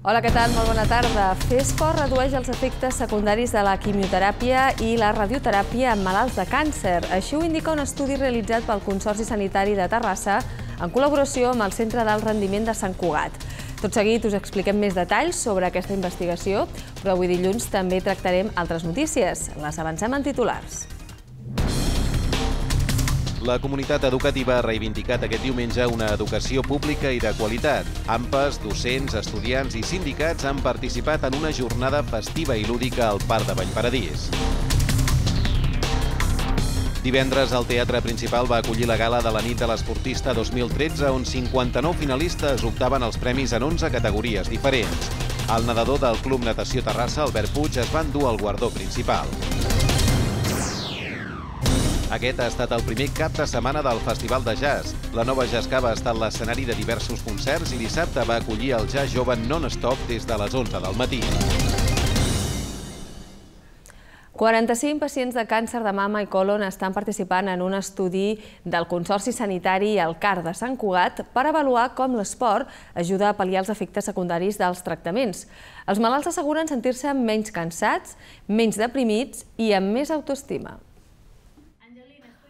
Hola, què tal? Molt bona tarda. Fer esport redueix els efectes secundaris de la quimioteràpia i la radioteràpia en malalts de càncer. Així ho indica un estudi realitzat pel Consorci Sanitari de Terrassa en col·laboració amb el Centre d'Alt Rendiment de Sant Cugat. Tot seguit us expliquem més detalls sobre aquesta investigació, però avui dilluns també tractarem altres notícies. Les avancem en titulars. La comunitat educativa ha reivindicat aquest diumenge una educació pública i de qualitat. AMPAs, docents, estudiants i sindicats han participat en una jornada festiva i lúdica al Parc de Vallparadís. Divendres, el Teatre Principal va acollir la gala de la nit de l'esportista 2013, on 59 finalistes optaven els premis en 11 categories diferents. El nedador del Club Natació Terrassa, Albert Puig, es va endur el guardó principal. Aquest ha estat el primer cap de setmana del Festival de Jazz. La Nova Jazz Cava ha estat l'escenari de diversos concerts i dissabte va acollir el Jazz Jove non-stop des de les 11 del matí. 45 pacients de càncer de mama i còlon estan participant en un estudi del Consorci Sanitari i el CAR de Sant Cugat per avaluar com l'esport ajuda a pal·liar els efectes secundaris dels tractaments. Els malalts asseguren sentir-se menys cansats, menys deprimits i amb més autoestima.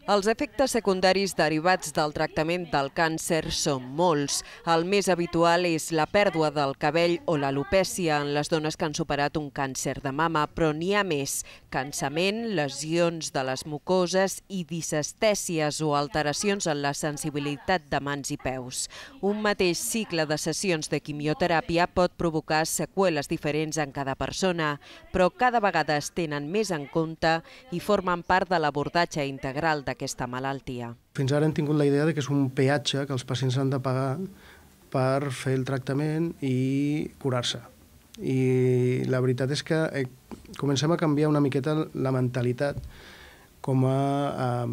Els efectes secundaris derivats del tractament del càncer són molts. El més habitual és la pèrdua del cabell o l'alopècia en les dones que han superat un càncer de mama, però n'hi ha més. Cansament, lesions de les mucoses i disestèsies o alteracions en la sensibilitat de mans i peus. Un mateix cicle de sessions de quimioteràpia pot provocar seqüeles diferents en cada persona, però cada vegada es tenen més en compte i formen part de l'abordatge integral d'aquesta malaltia. Fins ara hem tingut la idea que és un peatge que els pacients han de pagar per fer el tractament i curar-se. I la veritat és que comencem a canviar una miqueta la mentalitat com a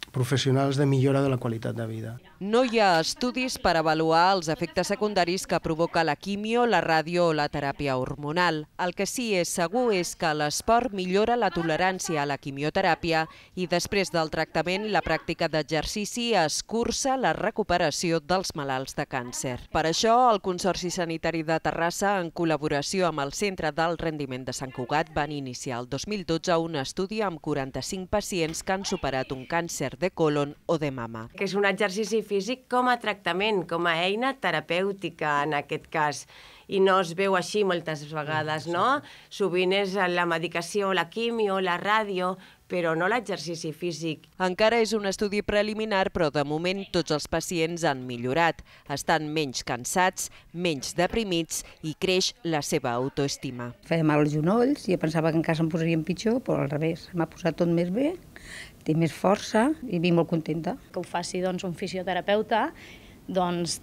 professionals de millora de la qualitat de vida. No hi ha estudis per avaluar els efectes secundaris que provoca la quimio, la ràdio o la teràpia hormonal. El que sí és segur és que l'esport millora la tolerància a la quimioteràpia i després del tractament la pràctica d'exercici escurça la recuperació dels malalts de càncer. Per això, el Consorci Sanitari de Terrassa, en col·laboració amb el Centre d'Alt Rendiment de Sant Cugat, van iniciar el 2012 un estudi amb 45 pacients que han superat un càncer de còlon o de mama. Que és un exercici físic com a tractament, com a eina terapèutica en aquest cas. I no es veu així moltes vegades, no? Sovint és la medicació, la quimio, la ràdio, però no l'exercici físic. Encara és un estudi preliminar, però de moment tots els pacients han millorat. Estan menys cansats, menys deprimits i creix la seva autoestima. Feia mal als genolls i pensava que encara se'm posarien pitjor, però al revés. M'ha posat tot més bé, tinc més força i vinc molt contenta. Que ho faci un fisioterapeuta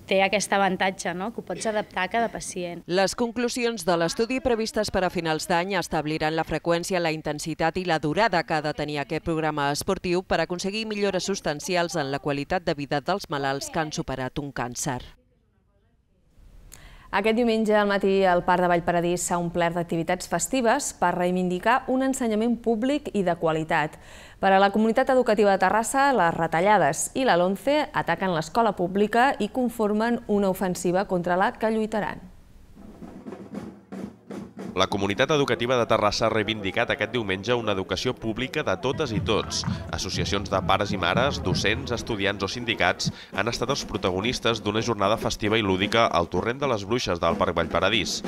té aquest avantatge, que ho pots adaptar a cada pacient. Les conclusions de l'estudi previstes per a finals d'any establiran la freqüència, la intensitat i la durada que ha de tenir aquest programa esportiu per aconseguir millores substancials en la qualitat de vida dels malalts que han superat un càncer. Aquest diumenge al matí el Parc de Vallparadís s'ha omplert d'activitats festives per reivindicar un ensenyament públic i de qualitat. Per a la comunitat educativa de Terrassa, les retallades i la LOMCE ataquen l'escola pública i conformen una ofensiva contra la que lluitaran. La comunitat educativa de Terrassa ha reivindicat aquest diumenge una educació pública de totes i tots. Associacions de pares i mares, docents, estudiants o sindicats han estat els protagonistes d'una jornada festiva i lúdica al Torrent de les Bruixes del Parc Vallparadís.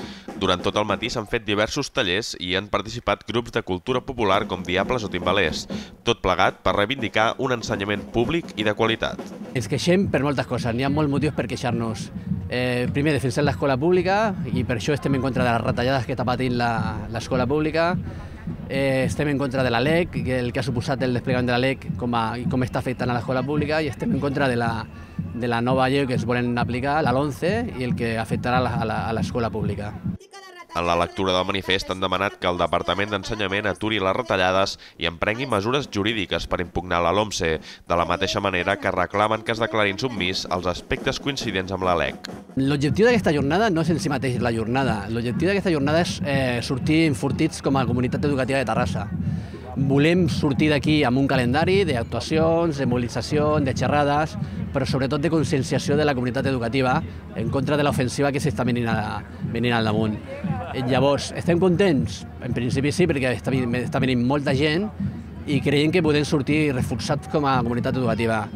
Durant tot el matí s'han fet diversos tallers i han participat grups de cultura popular com diables o timbalers. Tot plegat per reivindicar un ensenyament públic i de qualitat. Ens queixem per moltes coses, n'hi ha molts motius per queixar-nos. Primer, defensar l'escola pública i per això estem en contra de les retallades que està patint l'escola pública. Estem en contra de la LEC, el que ha suposat el desplegament de la LEC i com està afectant a l'escola pública, i estem en contra de la nova llei que es volen aplicar, la LOMCE, i el que afectarà a l'escola pública. En la lectura del manifest han demanat que el Departament d'Ensenyament aturi les retallades i emprengui mesures jurídiques per impugnar la LOMCE, de la mateixa manera que reclamen que es declarin submís als aspectes coincidents amb la LEC. L'objectiu d'aquesta jornada no és en si mateix la jornada. L'objectiu d'aquesta jornada és sortir enfortits com a comunitat educativa de Terrassa. Volem sortir d'aquí amb un calendari d'actuacions, de mobilització, de xerrades, però sobretot de conscienciació de la comunitat educativa en contra de l'ofensiva que s'està venint al damunt. Llavors, estem contents? En principi sí, perquè està venint molta gent i creiem que podem sortir reforçats com a comunitat educativa.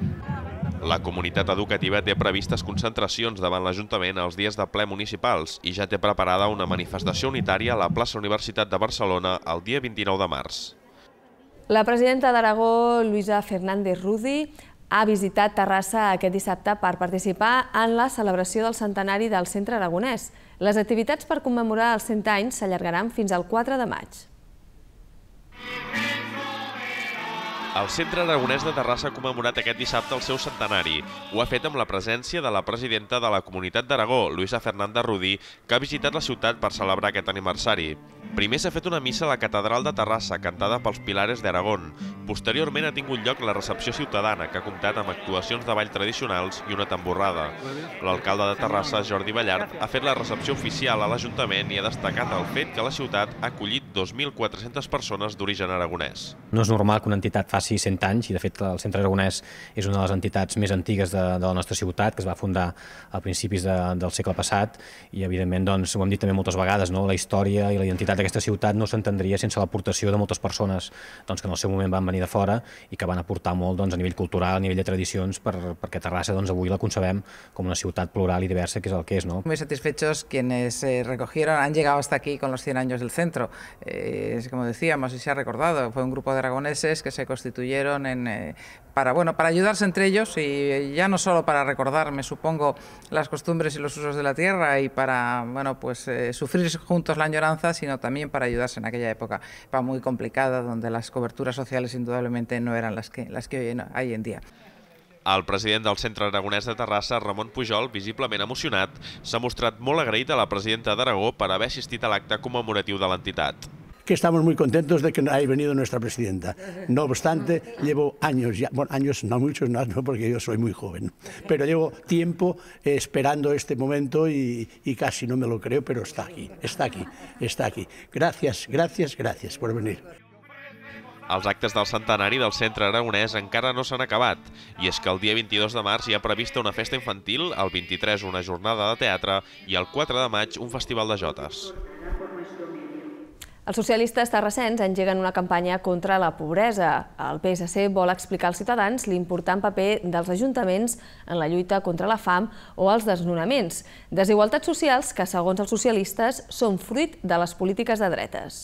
La comunitat educativa té previstes concentracions davant l'Ajuntament els dies de ple municipals i ja té preparada una manifestació unitària a la plaça Universitat de Barcelona el dia 29 de març. La presidenta d'Aragó, Luisa Fernández Rudi, ha visitat Terrassa aquest dissabte per participar en la celebració del centenari del Centre Aragonès. Les activitats per commemorar els 100 anys s'allargaran fins al 4 de maig. El Centre Aragonès de Terrassa ha commemorat aquest dissabte el seu centenari. Ho ha fet amb la presència de la presidenta de la Comunitat d'Aragó, Luisa Fernández Rudi, que ha visitat la ciutat per celebrar aquest aniversari. Primer s'ha fet una missa a la Catedral de Terrassa, cantada pels Pilares d'Aragón. Posteriorment ha tingut lloc la recepció ciutadana, que ha comptat amb actuacions de ball tradicionals i una tamborrada. L'alcalde de Terrassa, Jordi Ballart, ha fet la recepció oficial a l'Ajuntament i ha destacat el fet que la ciutat ha acollit 2.400 persones d'origen aragonès. No és normal que una entitat faci 100 anys, i de fet el Centre Aragonès és una de les entitats més antigues de la nostra ciutat, que es va fundar a principis del segle passat, i evidentment, doncs, ho hem dit també moltes vegades, la història i la identitat d'aquesta ciutat no s'entendria sense l'aportació de moltes persones que en el seu moment van venir de fora i que van aportar molt a nivell cultural, a nivell de tradicions, perquè Terrassa avui la concebem com una ciutat plural i diversa, que és el que és. Muy satisfechos quienes han llegado hasta aquí con los 100 años del centro. Como decíamos, y se ha recordado, fue un grupo de aragoneses que se constituyeron para ayudarse entre ellos, y ya no solo para recordar, me supongo, las costumbres y los usos de la tierra y para sufrir juntos la añoranza, sino también para ayudarse en aquella época muy complicada, donde las coberturas sociales indudablemente no eran las que hay en día. El president del Centre Aragonès de Terrassa, Ramon Pujol, visiblement emocionat, s'ha mostrat molt agraït a la presidenta d'Aragó per haver assistit a l'acte commemoratiu de l'entitat. Que estamos muy contentos de que haya venido nuestra presidenta. No obstante, llevo años, años no muchos, no, porque yo soy muy joven, pero llevo tiempo esperando este momento y casi no me lo creo, pero está aquí. Gracias por venir. Els actes del centenari del Centre Aragonès encara no s'han acabat, i és que el dia 22 de març hi ha prevista una festa infantil, el 23 una jornada de teatre i el 4 de maig un festival de jotes. Els socialistes terrassens engeguen una campanya contra la pobresa. El PSC vol explicar als ciutadans l'important paper dels ajuntaments en la lluita contra la fam o els desnonaments. Desigualtats socials que, segons els socialistes, són fruit de les polítiques de dretes.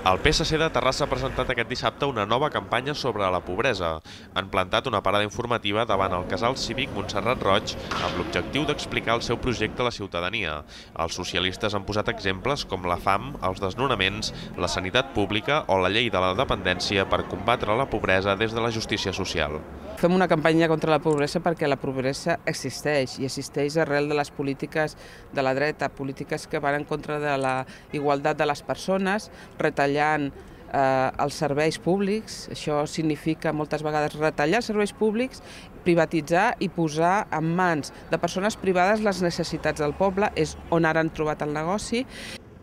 El PSC de Terrassa ha presentat aquest dissabte una nova campanya sobre la pobresa. Han plantat una parada informativa davant el casal cívic Montserrat Roig amb l'objectiu d'explicar el seu projecte a la ciutadania. Els socialistes han posat exemples com la fam, els desnonaments, la sanitat pública o la llei de la dependència per combatre la pobresa des de la justícia social. Fem una campanya contra la pobresa perquè la pobresa existeix, i existeix arrel de les polítiques de la dreta, polítiques que van en contra de la igualtat de les persones, retallant els serveis públics. Això significa moltes vegades retallar els serveis públics, privatitzar i posar en mans de persones privades les necessitats del poble, és on ara han trobat el negoci.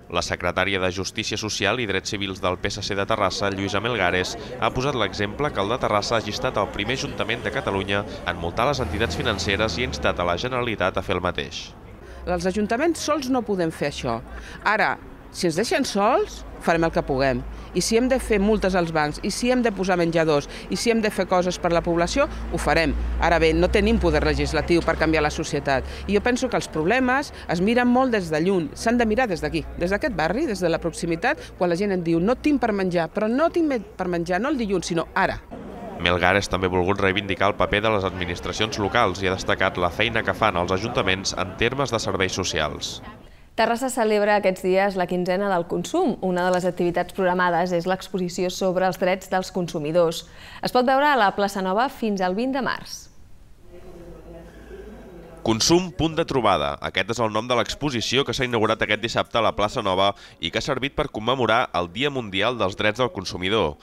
La secretària de Justícia Social i Drets Civils del PSC de Terrassa, Lluïsa Melgares, ha posat l'exemple que el de Terrassa hagi estat el primer ajuntament de Catalunya en multar les entitats financeres i ha instat a la Generalitat a fer el mateix. Els ajuntaments sols no podem fer això. Ara, si ens deixen sols, farem el que puguem. I si hem de fer multes als bancs, i si hem de posar menjadors, i si hem de fer coses per la població, ho farem. Ara bé, no tenim poder legislatiu per canviar la societat. I jo penso que els problemes es miren molt des de lluny. S'han de mirar des d'aquí, des d'aquest barri, des de la proximitat, quan la gent em diu no tinc per menjar, però no tinc per menjar no el dilluns, sinó ara. Melgares també ha volgut reivindicar el paper de les administracions locals i ha destacat la feina que fan els ajuntaments en termes de serveis socials. Terrassa celebra aquests dies la quinzena del consum. Una de les activitats programades és l'exposició sobre els drets dels consumidors. Es pot veure a la plaça Nova fins al 20 de març. Consum, punt de trobada. Aquest és el nom de l'exposició que s'ha inaugurat aquest dissabte a la plaça Nova i que ha servit per commemorar el Dia Mundial dels Drets del Consumidor.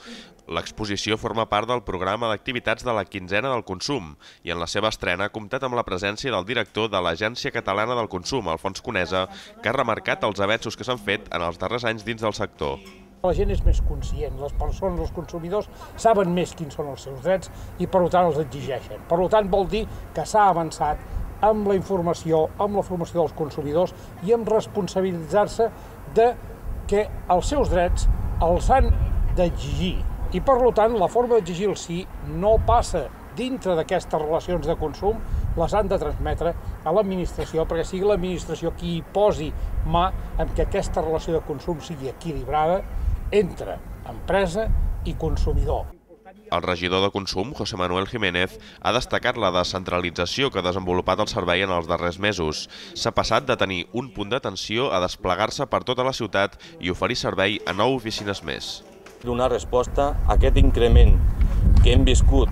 L'exposició forma part del programa d'activitats de la quinzena del consum i en la seva estrena ha comptat amb la presència del director de l'Agència Catalana del Consum, Alfons Conesa, que ha remarcat els avenços que s'han fet en els darrers anys dins del sector. La gent és més conscient, les persones, els consumidors, saben més quins són els seus drets i per tant els exigeixen. Per tant vol dir que s'ha avançat amb la informació, amb la formació dels consumidors i amb responsabilitzar-se de que els seus drets els han d'exigir. I per tant la forma d'exigir el sí no passa dintre d'aquestes relacions de consum, les han de transmetre a l'administració perquè sigui l'administració qui hi posi mà en que aquesta relació de consum sigui equilibrada entre empresa i consumidor. El regidor de Consum, José Manuel Jiménez, ha destacat la descentralització que ha desenvolupat el servei en els darrers mesos. S'ha passat de tenir un punt d'atenció a desplegar-se per tota la ciutat i oferir servei a 9 oficines més. Donar resposta a aquest increment que hem viscut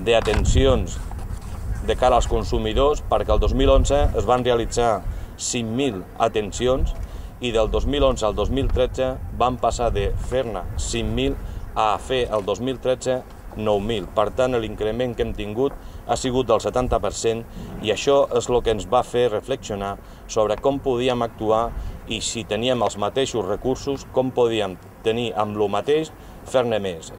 d'atencions de cara als consumidors, perquè el 2011 es van realitzar 5.000 atencions i del 2011 al 2013 van passar de fer-ne 5.000 a fer el 2013 9.000. Per tant, l'increment que hem tingut ha sigut del 70% i això és el que ens va fer reflexionar sobre com podíem actuar i si teníem els mateixos recursos, com podíem tenir amb el mateix fer-ne més.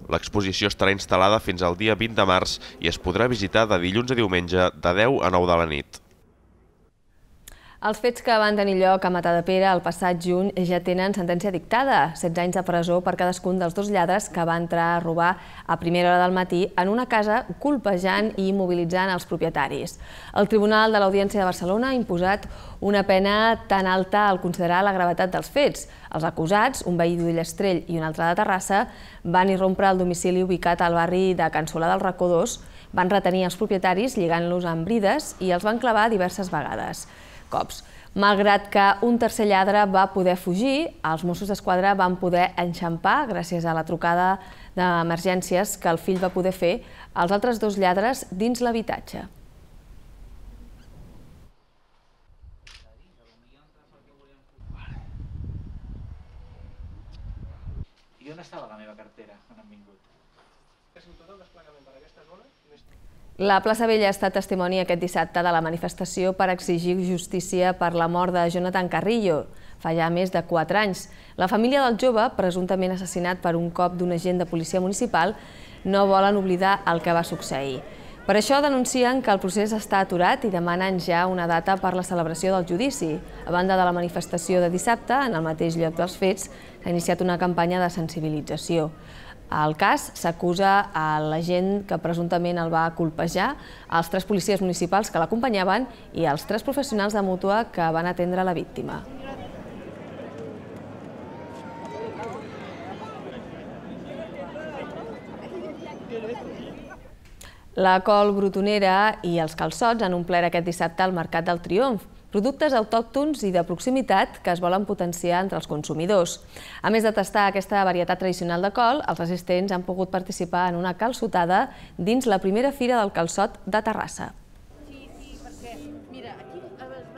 L'exposició estarà instal·lada fins al dia 20 de març i es podrà visitar de dilluns a diumenge de 10 a 9 de la nit. Els fets que van tenir lloc a Matadepera el passat juny ja tenen sentència dictada, 16 anys de presó per cadascun dels 2 lladres que van entrar a robar a primera hora del matí en una casa colpejant i immobilitzant els propietaris. El Tribunal de l'Audiència de Barcelona ha imposat una pena tan alta al considerar la gravetat dels fets. Els acusats, un veí d'Ullastrell i un altre de Terrassa, van irrompre al domicili ubicat al barri de Can Solà del Racó 2, van retenir els propietaris lligant-los amb brides i els van clavar diverses vegades. Malgrat que un tercer lladre va poder fugir, els Mossos d'Esquadra van poder enxampar, gràcies a la trucada d'emergències que el fill va poder fer, els altres 2 lladres dins l'habitatge. I on estava la meva cartera quan han vingut? La plaça Vella ha estat testimoni aquest dissabte de la manifestació per exigir justícia per la mort de Jonathan Carrillo, fa ja més de 4 anys. La família del jove, presumptament assassinat per un cop d'un agent de policia municipal, no volen oblidar el que va succeir. Per això denuncien que el procés està aturat i demanen ja una data per la celebració del judici. A banda de la manifestació de dissabte, en el mateix lloc dels fets, s'ha iniciat una campanya de sensibilització. Al cas s'acusa a l'agent que presumptament el va colpejar, als 3 policies municipals que l'acompanyaven i als 3 professionals de mútua que van atendre la víctima. La col brotonera i els calçots han omplert aquest dissabte al Mercat del Triomf, productes autòctons i de proximitat que es volen potenciar entre els consumidors. A més de tastar aquesta varietat tradicional de col, els assistents han pogut participar en una calçotada dins la primera fira del calçot de Terrassa.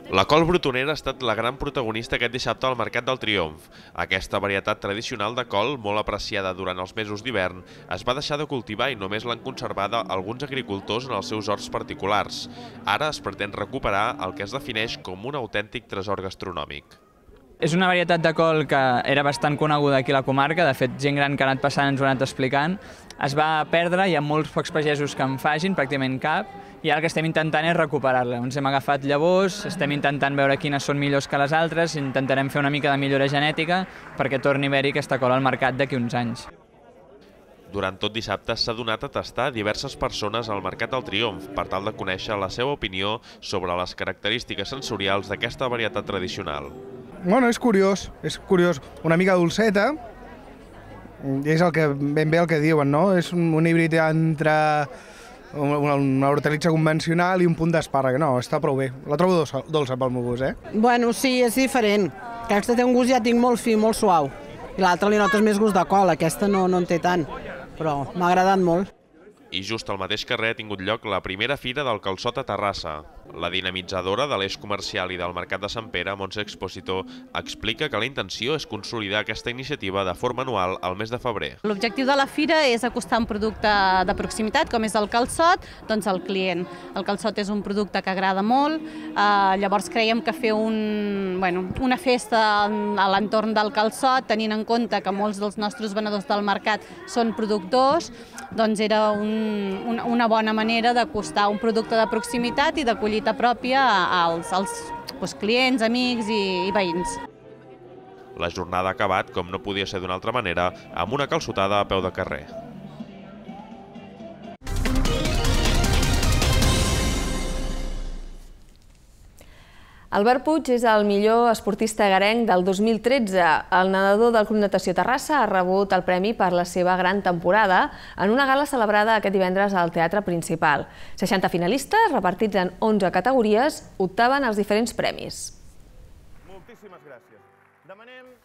La col brotonera ha estat la gran protagonista aquest dissabte al Mercat del Triomf. Aquesta varietat tradicional de col, molt apreciada durant els mesos d'hivern, es va deixar de cultivar i només l'han conservat alguns agricultors en els seus horts particulars. Ara es pretén recuperar el que es defineix com un autèntic tresor gastronòmic. És una varietat de col que era bastant coneguda aquí a la comarca, de fet gent gran que ha anat passant ens ho ha anat explicant. Es va perdre, hi ha molts pocs pagesos que en facin, pràcticament cap, i ara el que estem intentant és recuperar-la. Ens hem agafat llavors, estem intentant veure quines són millors que les altres, intentarem fer una mica de millora genètica perquè torni a haver-hi aquesta col al mercat d'aquí uns anys. Durant tot dissabte s'ha donat a tastar diverses persones al Mercat del Triomf per tal de conèixer la seva opinió sobre les característiques sensorials d'aquesta varietat tradicional. Bueno, és curiós, una mica dolceta, és ben bé el que diuen, no? És un híbrid entre una hortalitza convencional i un punt d'espàrrec, no, està prou bé. La trobo dolça pel meu gust, Bueno, sí, és diferent. Aquesta té un gust, ja tinc molt fi, molt suau. I l'altra li notes més gust de col, aquesta no en té tant, però m'ha agradat molt. I just al mateix carrer ha tingut lloc la primera fira del calçot a Terrassa. La dinamitzadora de l'eix comercial i del Mercat de Sant Pere, Montse Expósito, explica que la intenció és consolidar aquesta iniciativa de forma anual al mes de febrer. L'objectiu de la fira és acostar un producte de proximitat, com és el calçot, doncs al client. El calçot és un producte que agrada molt, llavors creiem que fer una festa a l'entorn del calçot, tenint en compte que molts dels nostres venedors del mercat són productors, doncs era una bona manera d'acostar un producte de proximitat i de collita pròpia als clients, amics i veïns. La jornada ha acabat, com no podia ser d'una altra manera, amb una calçotada a peu de carrer. Albert Puig és el millor esportista egarenc del 2013. El nedador del Club Natació Terrassa ha rebut el premi per la seva gran temporada en una gala celebrada aquest divendres al Teatre Principal. 60 finalistes, repartits en 11 categories, optaven als diferents premis. Moltíssimes gràcies.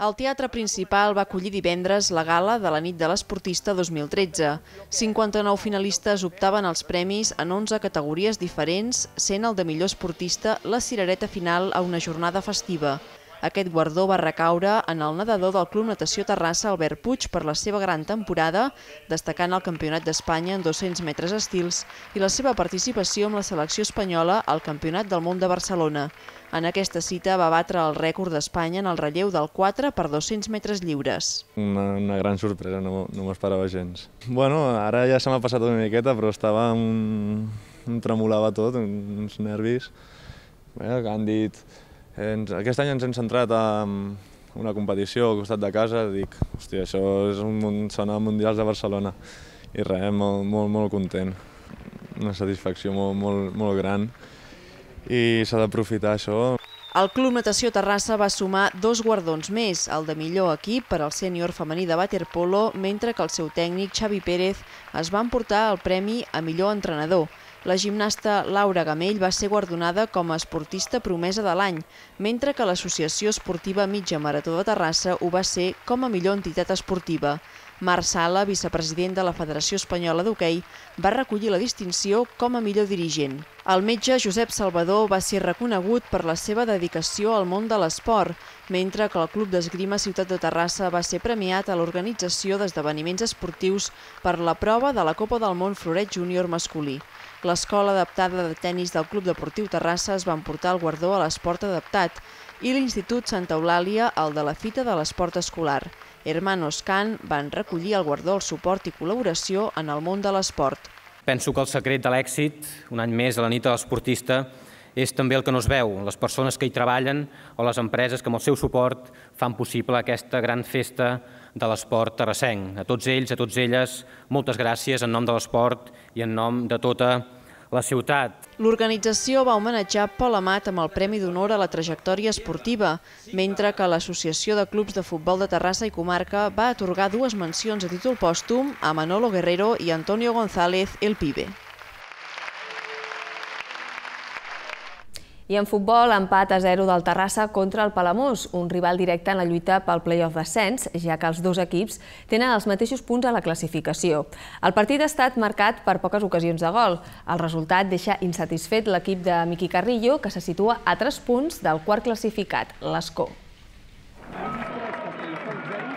El Teatre Principal va acollir divendres la gala de la nit de l'esportista 2013. 59 finalistes optaven als premis en 11 categories diferents, sent el de millor esportista la cirereta final a una jornada festiva. Aquest guardó va recaure en el nedador del Club Natació Terrassa, Albert Puig, per la seva gran temporada, destacant el Campionat d'Espanya en 200 metres estils i la seva participació amb la selecció espanyola al Campionat del Món de Barcelona. En aquesta cita va batre el rècord d'Espanya en el relleu del 4 per 200 metres lliures. Una gran sorpresa, no m'esperava gens. Bueno, ara ja se m'ha passat una miqueta, però em tremolava tot, uns nervis. Que han dit... Aquest any ens hem centrat en una competició al costat de casa, dic, hòstia, això són els Mundials de Barcelona. I res, molt content. Una satisfacció molt gran. I s'ha d'aprofitar això. El Club Natació Terrassa va sumar 2 guardons més, el de millor equip per al sènior femení de waterpolo, mentre que el seu tècnic, Xavi Pérez, es va emportar el premi a millor entrenador. La gimnasta Laura Gamell va ser guardonada com a esportista promesa de l'any, mentre que l'Associació Esportiva Mitja Marató de Terrassa ho va ser com a millor entitat esportiva. Marc Sala, vicepresident de la Federació Espanyola d'Hoquei, va recollir la distinció com a millor dirigent. El metge Josep Salvador va ser reconegut per la seva dedicació al món de l'esport, mentre que el Club d'Esgrima Ciutat de Terrassa va ser premiat a l'organització d'esdeveniments esportius per la prova de la Copa del Món Floret Júnior masculí. L'Escola Adaptada de Tenis del Club Deportiu Terrassa es va emportar el guardó a l'esport adaptat i l'Institut Santa Eulàlia el de la Fita de l'Esport Escolar. Hermanos Can van recollir el guardó al suport i col·laboració en el món de l'esport. Penso que el secret de l'èxit, un any més a la nit de l'esportista, és també el que no es veu, les persones que hi treballen o les empreses que amb el seu suport fan possible aquesta gran festa de l'esport terrassenc. A tots ells, a totes elles, moltes gràcies en nom de l'esport i en nom de tota la ciutat. L'organització va homenatjar Pol Amat amb el Premi d'Honor a la trajectòria esportiva, mentre que l'Associació de Clubs de Futbol de Terrassa i Comarca va atorgar 2 mencions a títol pòstum a Manolo Guerrero i Antonio González, el Pibe. I en futbol, empat a 0 del Terrassa contra el Palamós, un rival directe en la lluita pel play-off d'ascens, ja que els 2 equips tenen els mateixos punts a la classificació. El partit ha estat marcat per poques ocasions de gol. El resultat deixa insatisfet l'equip de Miqui Carrillo, que se situa a 3 punts del quart classificat, l'Escó.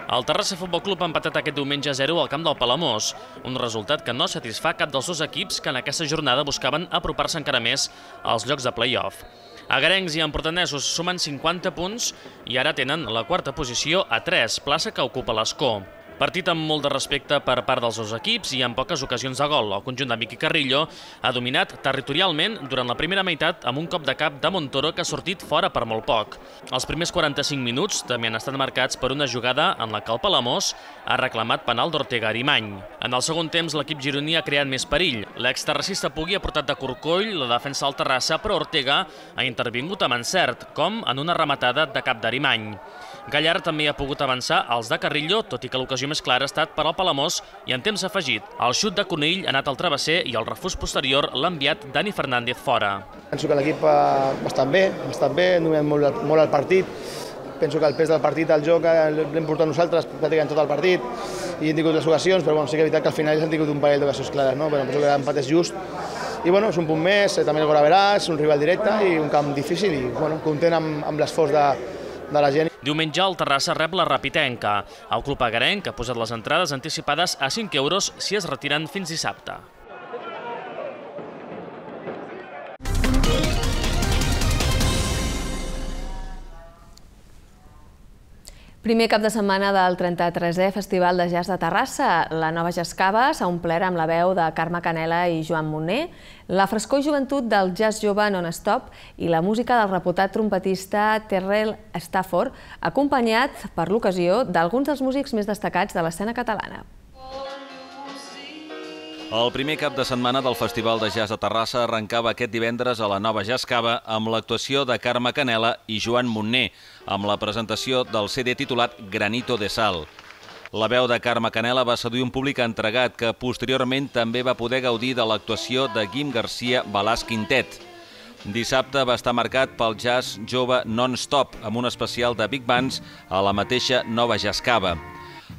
El Terrassa Futbol Club ha empatat aquest diumenge a 0 al camp del Palamós, un resultat que no satisfà cap dels 2 equips que en aquesta jornada buscaven apropar-se encara més als llocs de play-off. Agarencs i empordanesos sumen 50 punts i ara tenen la 4a posició a 3, plaça que ocupa l'Escó. Partit amb molt de respecte per part dels 2 equips i amb poques ocasions de gol. El conjunt de Miqui Carrillo ha dominat territorialment durant la primera meitat amb un cop de cap de Montoro que ha sortit fora per molt poc. Els primers 45 minuts també han estat marcats per una jugada en la que el Palamós ha reclamat penal d'Ortega Arimany. En el segon temps l'equip gironí ha creat més perill. L'exterracista Pugui ha portat de corcoll la defensa del Terrassa, però Ortega ha intervingut amb encert, com en una rematada de cap d'Arimany. Gallar també ha pogut avançar als de Carrillo, tot i que l'ocasió més clara ha estat per al Palamós i en temps afegit. El xut de Conill ha anat al travesser i el refús posterior l'ha enviat Dani Fernández fora. Penso que l'equip ha estat bé, hem dominat molt el partit. Penso que el pes del partit, el joc, l'hem portat nosaltres pràcticament tot el partit. i hem tingut les ocasions, però bueno, sí que és veritat que al final hem tingut un parell d'ocasions clares, no? Però penso que l'empat és just. I bueno, és un punt més, també el Goraverà, és un rival directe i un camp difícil i bueno, content amb l'esforç de la gent. Diumenge el Terrassa rep la Rapitenca. El club agarenc ha posat les entrades anticipades a 5 euros si es retiren fins dissabte. Primer cap de setmana del 33è Festival de Jazz de Terrassa. La Nova Jazzcava s'ha omplert amb la veu de Carme Canela i Joan Monner, la frescor i joventut del jazz jove non-stop i la música del reputat trompetista Terrell Stafford, acompanyat per l'ocasió d'alguns dels músics més destacats de l'escena catalana. El primer cap de setmana del Festival de Jazz de Terrassa arrencava aquest divendres a la Nova Jazzcava amb l'actuació de Carme Canela i Joan Monner, amb la presentació del CD titulat Granito de Sal. La veu de Carme Canela va seduir un públic entregat que posteriorment també va poder gaudir de l'actuació de Guim Garcia Balàs Quintet. Dissabte va estar marcat pel jazz jove non-stop amb un especial de big bands a la mateixa Nova Jazzcava.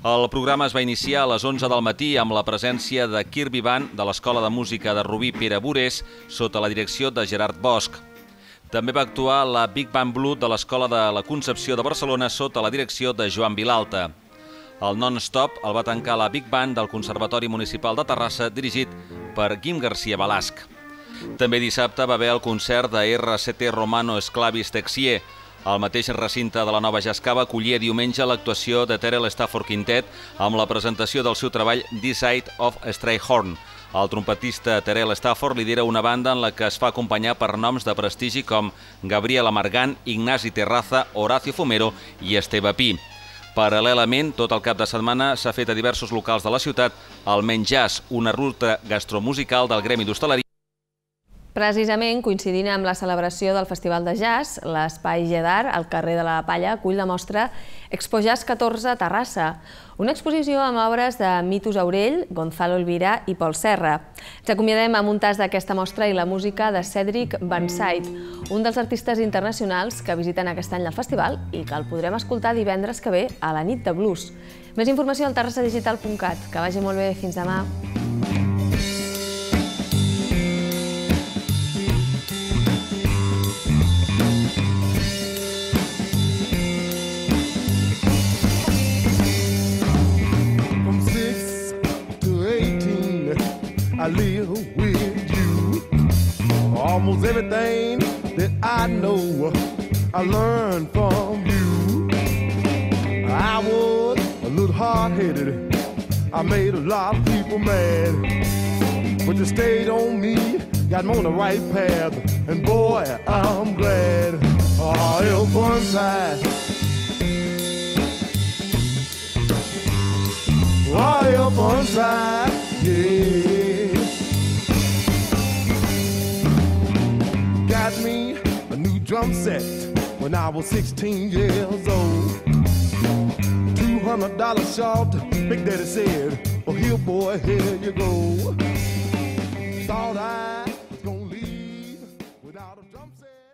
El programa es va iniciar a les 11 del matí amb la presència de Kirby Band de l'Escola de Música de Rubí Pere Burés sota la direcció de Gerard Bosch. També va actuar la Big Band Blue de l'Escola de la Concepció de Barcelona sota la direcció de Joan Vilalta. El non-stop el va tancar la Big Band del Conservatori Municipal de Terrassa dirigit per Guim Garcia Balasc. També dissabte va haver el concert de RCT Romano Esclavis Texier. El mateix recinte de la Nova Jazzcava acollia diumenge l'actuació de Terrell Stafford Quintet amb la presentació del seu treball This Side of Strayhorn. El trompetista Terrell Stafford lidera una banda en la que es fa acompanyar per noms de prestigi com Gabriel Amargant, Ignasi Terraza, Horacio Fumero i Esteve Pi. Paral·lelament, tot el cap de setmana s'ha fet a diversos locals de la ciutat el Menjars, una ruta gastromusical del Gremi d'Hostaleria. Precisament, coincidint amb la celebració del Festival de Jazz, l'Espai Gedar, al carrer de la Palla, acull la mostra Expo Jazz 14 a Terrassa, una exposició amb obres de Mitos Aurell, Gonzalo Elvira i Pol Serra. Ens acomiadem amb un tast d'aquesta mostra i la música de Cedric Bansaid, un dels artistes internacionals que visiten aquest any el festival i que el podrem escoltar divendres que ve a la nit de blues. Més informació al terrassadigital.cat. Que vagi molt bé. Fins demà. I live with you. Almost everything that I know, I learned from you. I was a little hard-headed. I made a lot of people mad. But you stayed on me, got me on the right path. And boy, I'm glad. Oh, one side. Oh, one side, yeah. Got me a new drum set when I was 16 years old. $200 short, Big Daddy said, well, here boy, here you go. Thought I was gonna leave without a drum set.